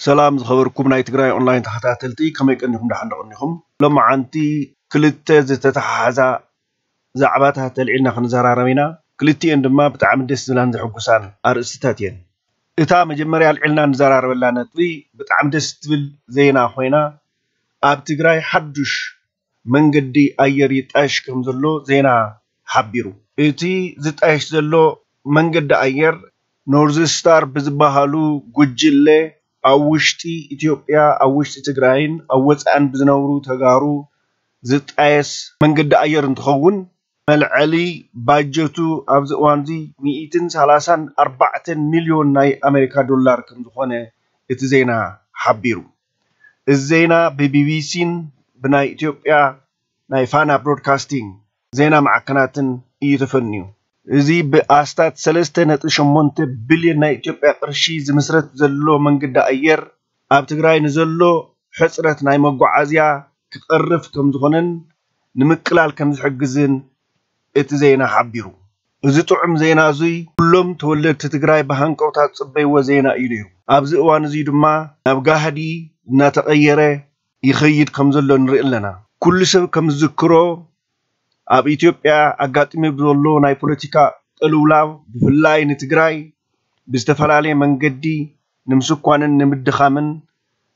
ሰላም ዝኸበርኩም ናይ ትግራይ ኦንላይን ተኸታተልቲ፣ ከመይ ቀኒኹም? ደሓን ዶ ቀኒኹም? ሎማዓንቲ ክልተ ዝተተሓሓዛ ዛዕባታት ተልዒልና ክንዘራረብ ኢና። ክልቲኤን ድማ ብጣዕሚ ደስ ዝብላን ዘሕጉሳን ኣርእስትታት እየን። እታ መጀመርያ ኣልዒልና ንዘራረበላ ነጥቢ ብጣዕሚ ደስ ትብል ዜና ኮይና፣ ኣብ ትግራይ ሓዱሽ መንገዲ ኣየር ይጣየሽ ከም ዘሎ ዜና ሓቢሩ። እቲ ዝጣየሽ ዘሎ መንገዲ ኣየር ኖርዝ ስታር ብዝበሃሉ ጉጅለ ኣብ ውሽጢ ኢትዮጵያ፣ ኣብ ውሽጢ ትግራይን ኣብ ወፃእን ብዝነብሩ ተጋሩ ዝጣየስ መንገዲ ኣየር እንትኸውን፣ መልዐሊ ባጀቱ ኣብዚ እዋን እዚ ሚእትን ሰላሳን ኣርባዕተን ሚልዮን ናይ ኣሜሪካ ዶላር ከም ዝኾነ እቲ ዜና ሓቢሩ። እዚ ዜና ብቢቢሲን ብናይ ኢትዮጵያ ናይ ፋና ብሮድካስቲንግ ዜና ማዕከናትን እዩ ተፈንዩ። እዚ ብኣስታት ሰለስተ ነጥቢ ሸሞንተ ቢልዮን ናይ ኢትዮጵያ ቅርሺ ዝምስረት ዘሎ መንገዲ ኣየር ኣብ ትግራይ ንዘሎ ሕፅረት ናይ መጓዓዝያ ክቐርፍ ከም ዝኾነን ንምቅላል ከም ዝሕግዝን እቲ ዜና ሓቢሩ። እዚ ጥዑም ዜና እዙይ ኩሎም ተወለድቲ ትግራይ ብሃንቀውታ ዝፅበይዎ ዜና እዩ ነይሩ። ኣብዚ እዋን እዙይ ድማ ናብ ጋህዲ እናተቐየረ ይኸይድ ከም ዘሎ ንርኢ ኣለና። ኩሉ ሰብ ከም ዝዝክሮ ኣብ ኢትዮጵያ ኣጋጢሙ ብዘሎ ናይ ፖለቲካ ቅልውላው ብፍላይ ንትግራይ ብዝተፈላለየ መንገዲ ንምስኳንን ንምድኻምን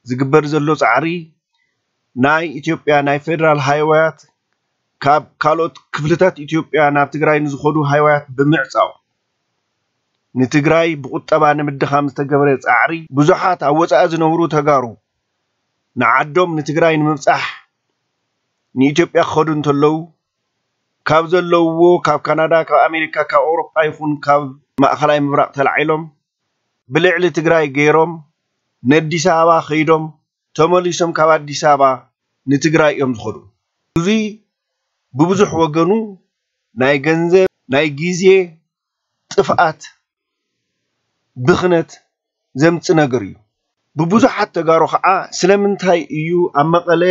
ዝግበር ዘሎ ፃዕሪ ናይ ኢትዮጵያ ናይ ፌደራል ሃይወያት ካብ ካልኦት ክፍልታት ኢትዮጵያ ናብ ትግራይ ንዝኸዱ ሃይወያት ብምዕፃው ንትግራይ ብቁጠባ ንምድኻም ዝተገበረ ፃዕሪ ብዙሓት ኣብ ወፃኢ ዝነብሩ ተጋሩ ንዓዶም ንትግራይ ንምብፃሕ ንኢትዮጵያ ክኸዱ እንተለዉ ካብ ዘለውዎ ካብ ካናዳ ካብ ኣሜሪካ ካብ ኣውሮጳ ይኹን ካብ ማእኸላይ ምብራቕ ተላዒሎም ብልዕሊ ትግራይ ገይሮም ነዲስ ኣበባ ከይዶም ተመሊሶም ካብ ኣዲስ ኣበባ ንትግራይ እዮም ዝኸዱ። እዙይ ብብዙሕ ወገኑ ናይ ገንዘብ ናይ ግዜ ጥፍኣት ብኽነት ዘምፅ ነገር እዩ። ብብዙሓት ተጋሩ ከዓ ስለምንታይ እዩ ኣብ መቐለ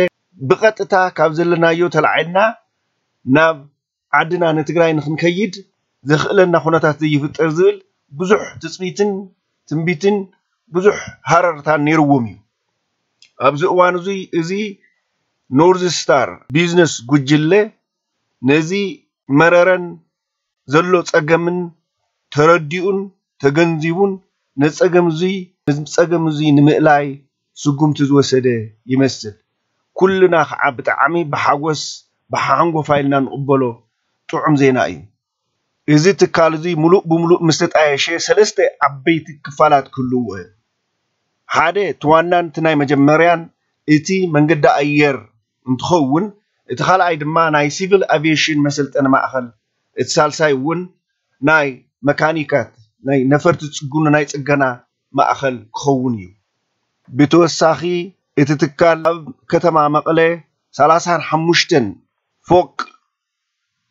ብቐጥታ ካብ ዘለናዮ ተላዒልና ናብ ዓድና ንትግራይ ንክንከይድ ዘኽእለና ኩነታት ዘይፍጠር ዝብል ብዙሕ ትፅቢትን ትንቢትን ብዙሕ ሃረርታን ነይርዎም እዩ። ኣብዚ እዋን እዙይ እዚ ኖርዝ ስታር ቢዝነስ ጉጅለ ነዚ መረረን ዘሎ ፀገምን ተረዲኡን ተገንዚቡን ነፀገም እዙይ ነዚ ፀገም እዙይ ንምእላይ ስጉምቲ ዝወሰደ ይመስል። ኩልና ከዓ ብጣዕሚ ብሓጎስ ብሓንጎፋ ኢልና ንቕበሎ ጥዑም ዜና እዩ። እዚ ትካል እዚ ሙሉእ ብሙሉእ ምስ ተጣየሸ ሰለስተ ዓበይቲ ክፋላት ክህልውዎ እዮም። ሓደ እቲ ዋናን እቲ ናይ መጀመርያን እቲ መንገዲ ኣየር እንትኸውን እቲ ካልኣይ ድማ ናይ ሲቪል ኣቪዬሽን መሰልጠኒ ማእኸል እቲ ሳልሳይ እውን ናይ መካኒካት ናይ ነፈርቲ ዝፅግኑ ናይ ፅገና ማእኸል ክኸውን እዩ። ብተወሳኺ እቲ ትካል ኣብ ከተማ መቐለ ሰላሳን ሓሙሽተን ፎቅ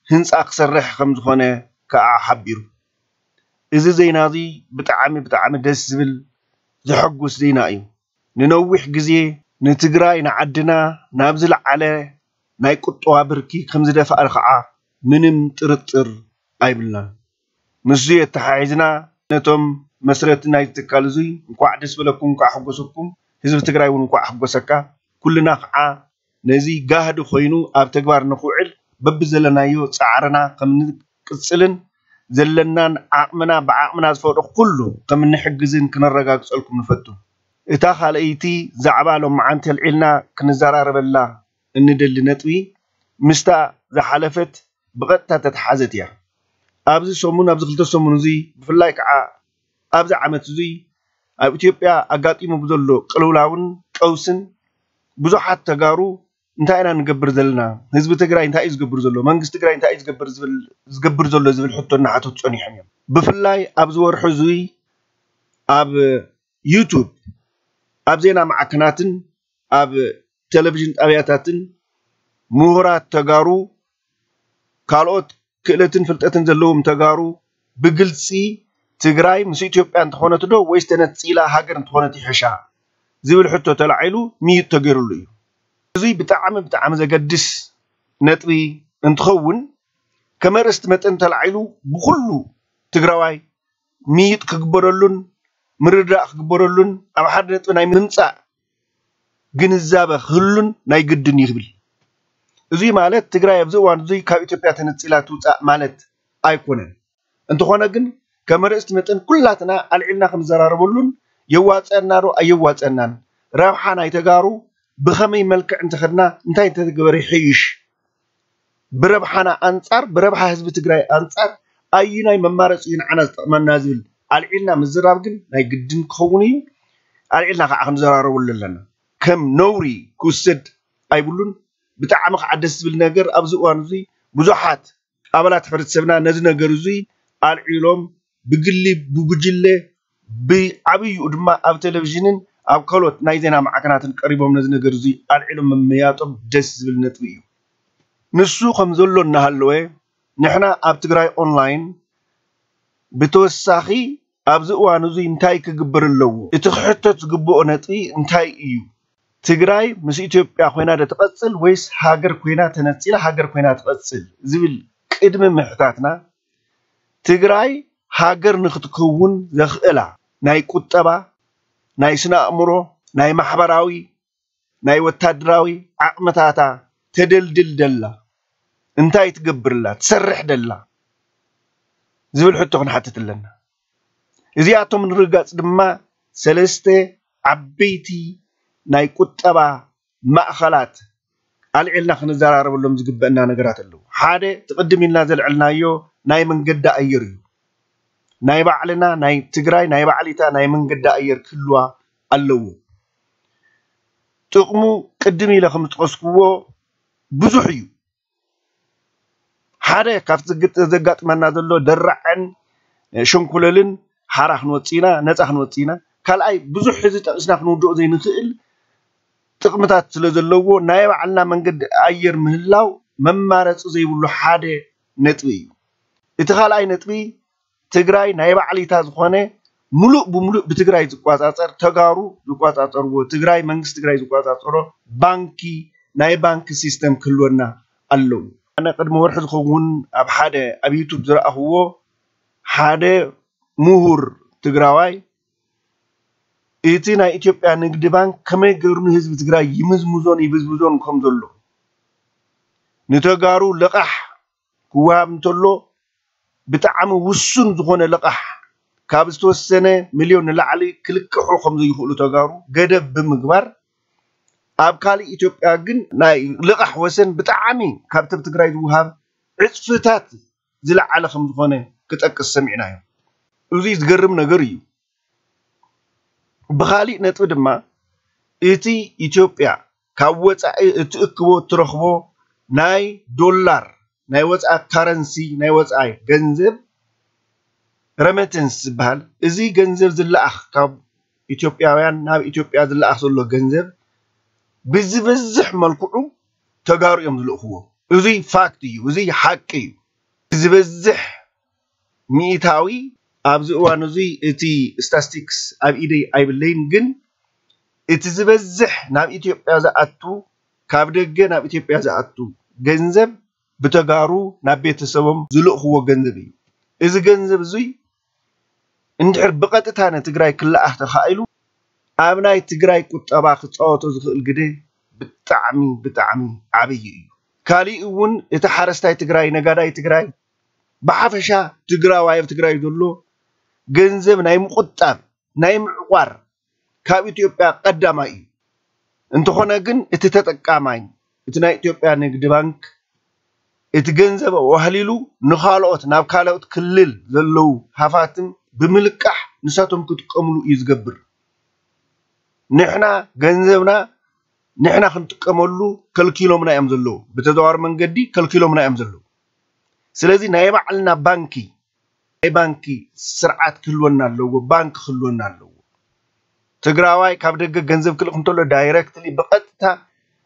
ህንፃ ክሰርሕ ከም ዝኾነ ከዓ ሓቢሩ። እዚ ዜና እዚ ብጣዕሚ ብጣዕሚ ደስ ዝብል ዘሐጉስ ዜና እዩ። ንነዊሕ ግዜ ንትግራይ ንዓድና ናብ ዝለዓለ ናይ ቁጠባ ብርኪ ከም ዝደፍኣ ከዓ ምንም ጥርጥር ኣይብልናን። ምስዚ የተሓሒዝና ነቶም መስረቲ ናይ ትካል እዙይ እንኳዕ ደስ በለኩም፣ እንኳዕ ሓጎሰኩም፣ ህዝቢ ትግራይ እውን እንኳዕ ሓጎሰካ። ኩልና ከዓ ነዚ ጋህዲ ኮይኑ ኣብ ተግባር ንክውዕል በብዘለናዮ ፃዕርና ከም እንቅፅልን ዘለናን ዓቕምና ብዓቕምና ዝፈቅዶ ኩሉ ከም እንሕግዝን ክነረጋግፀልኩም ንፈቱ። እታ ካልኣይቲ ዛዕባ ሎማዓንቲ ኣልዒልና ክንዘራረበላ እንደሊ ነጥቢ ምስታ ዝሓለፈት ብቐጥታ ተተሓዘት እያ። ኣብዚ ሰሙን ኣብዚ ክልተ ሰሙን እዙይ ብፍላይ ከዓ ኣብዚ ዓመት እዙይ ኣብ ኢትዮጵያ ኣጋጢሙ ብዘሎ ቅልውላውን ቀውስን ብዙሓት ተጋሩ እንታይ ኢና ንገብር ዘለና? ህዝቢ ትግራይ እንታይ እዩ ዝገብር ዘሎ? መንግስቲ ትግራይ እንታይ እዩ ዝገብር ዝብል ዝገብር ዘሎ ዝብል ሕቶ እናሓተቱ ፀኒሖም እዮም። ብፍላይ ኣብዚ ወርሒ እዙይ ኣብ ዩቱብ ኣብ ዜና ማዕከናትን ኣብ ቴሌቪዥን ጣብያታትን ምሁራት ተጋሩ ካልኦት ክእለትን ፍልጠትን ዘለዎም ተጋሩ ብግልፂ ትግራይ ምስ ኢትዮጵያ እንተኾነት ዶ ወይስ ተነፂላ ሃገር እንተኾነት ይሕሻ ዝብል ሕቶ ተላዒሉ ምይጥ ተገይሩሉ እዩ። እዙይ ብጣዕሚ ብጣዕሚ ዘገድስ ነጥቢ እንትኸውን ከም ኣርእስቲ መጠን ተላዒሉ ብኩሉ ትግራዋይ ምይጥ ክግበረሉን ምርድዳእ ክግበረሉን ኣብ ሓደ ነጥቢ ናይ ምምፃእ ግንዛበ ክህሉን ናይ ግድን ይብል። እዙይ ማለት ትግራይ ኣብዚ እዋን እዙይ ካብ ኢትዮጵያ ተነፂላ ትውፃእ ማለት ኣይኮነን። እንተኾነ ግን ከም ኣርእስቲ መጠን ኩላትና ኣልዒልና ክንዘራረበሉን የዋፀና ዶ ኣየዋፀናን፣ ረብሓ ናይ ተጋሩ ብኸመይ መልክዕ እንተኸድና እንታይ እንተተገበረ ይሕይሽ፣ ብረብሓና ኣንፃር ብረብሓ ህዝቢ ትግራይ ኣንፃር ኣዩናይ መማረፂ እዩ ንዓና ዝጠቕመና ዝብል ኣልዒልና ምዝራብ ግን ናይ ግድን ክኸውን እዩ። ኣልዒልና ከዓ ክንዘራረበሉ ኣለና። ከም ነውሪ ክውሰድ ኣይብሉን። ብጣዕሚ ከዓ ደስ ዝብል ነገር ኣብዚ እዋን እዙይ ብዙሓት ኣባላት ሕብረተሰብና ነዚ ነገር እዙይ ኣልዒሎም ብግሊ ብጉጅለ ብዓብይኡ ድማ ኣብ ቴሌቪዥንን ኣብ ካልኦት ናይ ዜና ማዕከናትን ቀሪቦም ነዚ ነገር እዙይ ኣልዒሎም ምምያጦም ደስ ዝብል ነጥቢ እዩ። ንሱ ከም ዘሎ እናሃለወ ንሕና ኣብ ትግራይ ኦንላይን ብተወሳኺ ኣብዚ እዋን እዙይ እንታይ ክግበር ኣለዎ? እቲ ክሕተት ዝግብኦ ነጥቢ እንታይ እዩ? ትግራይ ምስ ኢትዮጵያ ኮይና ዶ ትቐፅል ወይስ ሃገር ኮይና ተነፂላ ሃገር ኮይና ትቐፅል ዝብል ቅድሚ ምሕታትና ትግራይ ሃገር ንክትከውን ዘኽእላ ናይ ቁጠባ፣ ናይ ስነ ኣእምሮ፣ ናይ ማሕበራዊ፣ ናይ ወታደራዊ ዓቕምታታ ተደልድል ደላ እንታይ ትገብርላ ትሰርሕ ደላ ዝብል ሕቶ ክንሓትት ኣለና። እዚኣቶም ንርጋፅ ድማ ሰለስተ ዓበይቲ ናይ ቁጠባ ማእኸላት ኣልዒልና ክንዘራረበሎም ዝግበአና ነገራት ኣለዉ። ሓደ እቲ ቅድም ኢልና ዘልዐልናዮ ናይ መንገዲ ኣየር እዩ። ናይ ባዕልና ናይ ትግራይ ናይ ባዕሊታ ናይ መንገዲ ኣየር ክህልዋ ኣለዎ። ጥቕሙ ቅድም ኢለ ከም ዝጠቐስክዎ ብዙሕ እዩ። ሓደ ካብቲ ዘጋጥመና ዘሎ ደራዕን ሸንኮለልን ሓራ ክንወፅእ ኢና፣ ነፃ ክንወፅእ ኢና። ካልኣይ ብዙሕ ሕዚ ጠቒስና ክንውድኦ ዘይንኽእል ጥቕምታት ስለ ዘለዎ ናይ ባዕልና መንገዲ ኣየር ምህላው መማረፂ ዘይብሉ ሓደ ነጥቢ እዩ። እቲ ካልኣይ ነጥቢ ትግራይ ናይ ባዕሊታ ዝኾነ ሙሉእ ብሙሉእ ብትግራይ ዝቋፃፀር ተጋሩ ዝቋፃፀርዎ ትግራይ መንግስቲ ትግራይ ዝቋፃፀሮ ባንኪ ናይ ባንኪ ሲስተም ክህልወና ኣለዎ። ኣነ ቅድሚ ወርሒ ዝኸውን ኣብ ሓደ ኣብ ዩቱብ ዝረኣኽዎ ሓደ ምሁር ትግራዋይ እቲ ናይ ኢትዮጵያ ንግዲ ባንክ ከመይ ገይሩ ንህዝቢ ትግራይ ይምዝምዞን ይብዝብዞን ከም ዘሎ ንተጋሩ ልቓሕ ክወሃብ እንተሎ ብጣዕሚ ውሱን ዝኾነ ልቓሕ ካብ ዝተወሰነ ሚልዮን ንላዕሊ ክልቅሑ ከም ዘይኽእሉ ተጋሩ ገደብ ብምግባር ኣብ ካልእ ኢትዮጵያ ግን ናይ ልቓሕ ወሰን ብጣዕሚ ካብቲ ኣብ ትግራይ ዝወሃብ ዕፅፍታት ዝለዓለ ከም ዝኾነ ክጠቅስ ሰሚዕናዮ። እዙይ ዝገርም ነገር እዩ። ብኻሊእ ነጥቢ ድማ እቲ ኢትዮጵያ ካብ ወፃኢ እትእክቦ እትረኽቦ ናይ ዶላር ናይ ወፃኢ ካረንሲ ናይ ወፃኢ ገንዘብ ረመተንስ ዝበሃል እዚ ገንዘብ ዝለኣኽ ካብ ኢትዮጵያውያን ናብ ኢትዮጵያ ዝለኣኽ ዘሎ ገንዘብ ብዝበዝሕ መልክዑ ተጋሩ እዮም ዝልእኽዎ። እዙይ ፋክት እዩ፣ እዙይ ሓቂ እዩ። ዝበዝሕ ሚእታዊ ኣብዚ እዋን እዙይ እቲ ስታስቲክስ ኣብ ኢደይ ኣይብለይን፣ ግን እቲ ዝበዝሕ ናብ ኢትዮጵያ ዝኣቱ ካብ ደገ ናብ ኢትዮጵያ ዝኣቱ ገንዘብ ብተጋሩ ናብ ቤተሰቦም ዝልእኽዎ ገንዘብ እዩ። እዚ ገንዘብ እዙይ እንድሕር ብቐጥታ ንትግራይ ክለኣኽ ተኻኢሉ ኣብ ናይ ትግራይ ቁጠባ ክፃወቶ ዝኽእል ግደ ብጣዕሚ ብጣዕሚ ዓብዪ እዩ። ካሊእ እውን እቲ ሓረስታይ ትግራይ ነጋዳይ ትግራይ ብሓፈሻ ትግራዋይ ኣብ ትግራይ ዘሎ ገንዘብ ናይ ምቁጣብ ናይ ምዕቋር ካብ ኢትዮጵያ ቀዳማይ እዩ። እንተኾነ ግን እቲ ተጠቃማይ እቲ ናይ ኢትዮጵያ ንግዲ ባንክ እቲ ገንዘብ ኣዋህሊሉ ንኻልኦት ናብ ካልኦት ክልል ዘለዉ ሃፋትም ብምልቃሕ ንሳቶም ክጥቀምሉ እዩ ዝገብር። ንሕና ገንዘብና ንሕና ክንጥቀመሉ ከልኪሎምና እዮም ዘለዉ፣ ብተዘዋዋሪ መንገዲ ከልኪሎምና እዮም ዘለዉ። ስለዚ ናይ ባዕልና ባንኪ ናይ ባንኪ ስርዓት ክህልወና ኣለዎ፣ ባንክ ክህልወና ኣለዎ። ትግራዋይ ካብ ደገ ገንዘብ ክልእኽ እንተሎ ዳይረክትሊ ብቐጥታ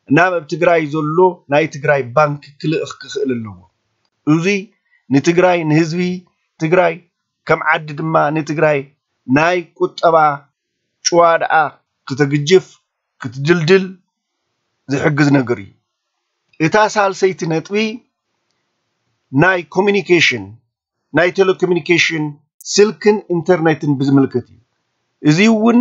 ናብ ኣብ ትግራይ ዘሎ ናይ ትግራይ ባንክ ክልእኽ ክኽእል ኣለዎ። እዙይ ንትግራይ ንህዝቢ ትግራይ ከም ዓዲ ድማ ንትግራይ ናይ ቁጠባ ጭዋድኣ ክተግጅፍ ክትድልድል ዝሕግዝ ነገር እዩ። እታ ሳልሰይቲ ነጥቢ ናይ ኮሚኒኬሽን ናይ ቴሌኮሚኒኬሽን ስልክን ኢንተርኔትን ብዝምልከት እዩ። እዚ እውን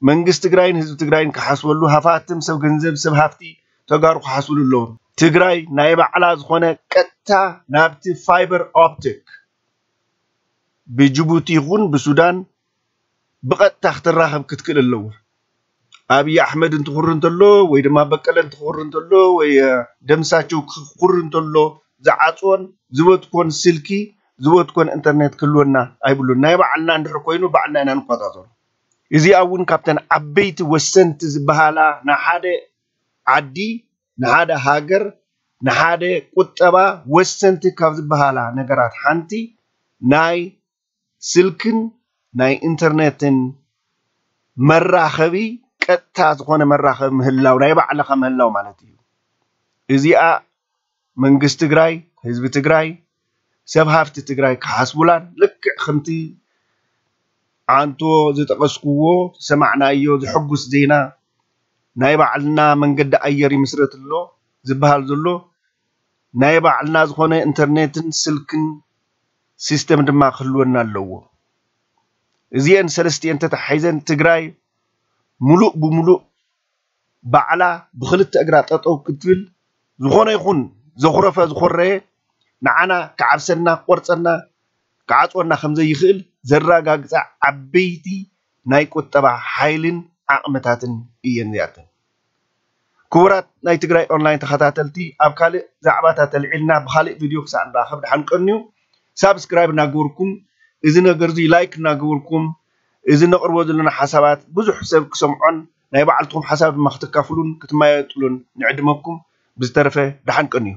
መንግስቲ ትግራይን ህዝቢ ትግራይን ክሓስበሉ፣ ሃፋትም ሰብ ገንዘብ ሰብ ሃፍቲ ተጋሩ ክሓስብሉ ኣለዎም። ትግራይ ናይ ባዕላ ዝኾነ ቀጥታ ናብቲ ፋይበር ኦፕቲክ ብጅቡቲ ይኹን ብሱዳን ብቐጥታ ክትራኸብ ክትክእል ኣለዎ። ኣብይ ኣሕመድ እንትኹር እንተሎ ወይ ድማ በቀለ እንትኹር እንተሎ ወይ ደምሳቸው ክኹር እንተሎ ዝዓፅዎን ዝበትኮን ስልኪ ዝበትኮን ኢንተርኔት ክህልወና ኣይብሉን። ናይ ባዕልና እንድሕር ኮይኑ ባዕልና ኢና ንቆፃፀሩ። እዚኣ እውን ካብተን ዓበይቲ ወሰንቲ ዝበሃላ ንሓደ ዓዲ ንሓደ ሃገር ንሓደ ቁጠባ ወሰንቲ ካብ ዝበሃላ ነገራት ሓንቲ ናይ ስልክን ናይ ኢንተርኔትን መራኸቢ ቀጥታ ዝኾነ መራኸቢ ምህላው ናይ ባዕልኻ ምህላው ማለት እዩ። እዚኣ መንግስቲ ትግራይ ህዝቢ ትግራይ ሰብ ሃፍቲ ትግራይ ክሓስቡላን ልክዕ ከምቲ ዓንቶ ዝጠቐስኩዎ ዝሰማዕናዮ ዝሕጉስ ዜና ናይ ባዕልና መንገዲ ኣየር ይምስረት ኣሎ ዝበሃል ዘሎ ናይ ባዕልና ዝኾነ ኢንተርኔትን ስልክን ሲስተም ድማ ክህልወና ኣለዎ። እዚአን ሰለስቲአን ተተሓሒዘን ትግራይ ሙሉእ ብሙሉእ ባዕላ ብክልተ እግራ ጠጠው ክትብል ዝኾነ ይኹን ዘኹረፈ ዝኾረየ ንዓና ክዓብሰና ክቆርፀና ክዓፅወና ከም ዘይኽእል ዘረጋግፃ ዓበይቲ ናይ ቁጠባ ሓይልን ዓቕምታትን እየን እዚኣተን። ክቡራት ናይ ትግራይ ኦንላይን ተኸታተልቲ ኣብ ካልእ ዛዕባታት ተልዒልና ብኻልእ ቪድዮ ክሳዕ ንራኸብ ደሓን ቀንዩ። ሳብስክራይብ እናገበርኩም እዚ ነገር እዚ ላይክ እናገበርኩም እዚ ነቕርቦ ዘለና ሓሳባት ብዙሕ ሰብ ክሰምዖን ናይ ባዕልትኹም ሓሳብ ድማ ክትካፍሉን ክትመያየጥሉን ንዕድመኩም። ብዝተረፈ ደሓን ቀንዩ።